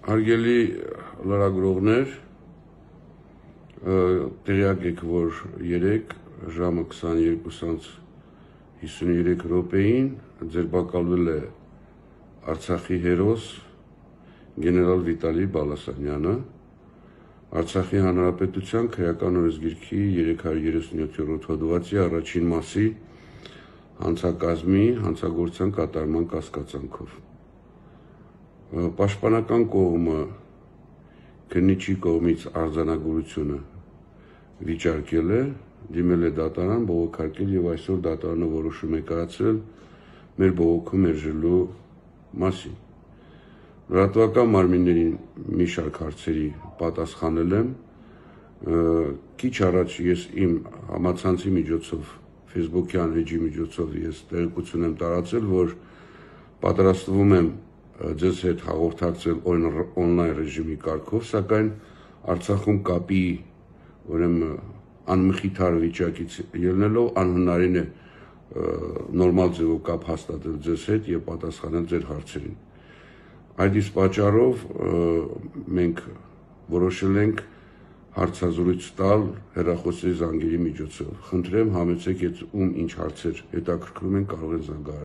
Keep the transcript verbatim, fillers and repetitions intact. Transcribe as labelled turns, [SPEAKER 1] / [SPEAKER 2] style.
[SPEAKER 1] Հարգելի լրագրողներ, տեղյակ եք, որ երեկ ժամը քսաներկու հիսուներեք րոպեին ձերբակալվել է Արցախի հերոս գեներալ Վիտալի Բալասանյանը, Արցախի Հանրապետության քրեական օրենսգիրքի երեք հարյուր երեսունյոթ հոդվածի առաջին մասի հանցակազմի հանցագործության կատարման կասկածանքով։ Պաշտպանական կողմը քննիչի կողմից արձանագրությունը վիճարկել է, դիմել է դատարան, բողոքարկել եւ այսօր դատարանը որոշում է կայացրել մեր բողոքը մերժելու մասին։ Լրատվական մարմիններին մի շարք հարցերի պատասխանել եմ, քիչ առաջ ես իմ համացանցի միջոցով, Facebook-յան էջի միջոցով ես տեղեկություն եմ տարածել, որ պատրաստվում եմ ձեզ հետ հաղորդակցել օնլայն ռեժիմի կարգով, սակայն Արցախում կապի ուրեմն անմխիթար վիճակից ելնելով անհնարին է նորմալ ձևով կապ հաստատել ձեզ հետ եւ պատասխանել ձեր հարցերին։ Այդ իսկ պատճառով մենք որոշել ենք հարցազրույց տալ հեռախոսի զանգերի միջոցով։ Խնդրեմ համեցեք, ում ինչ հարցեր հետաքրքրում են, կարող են զանգահարել։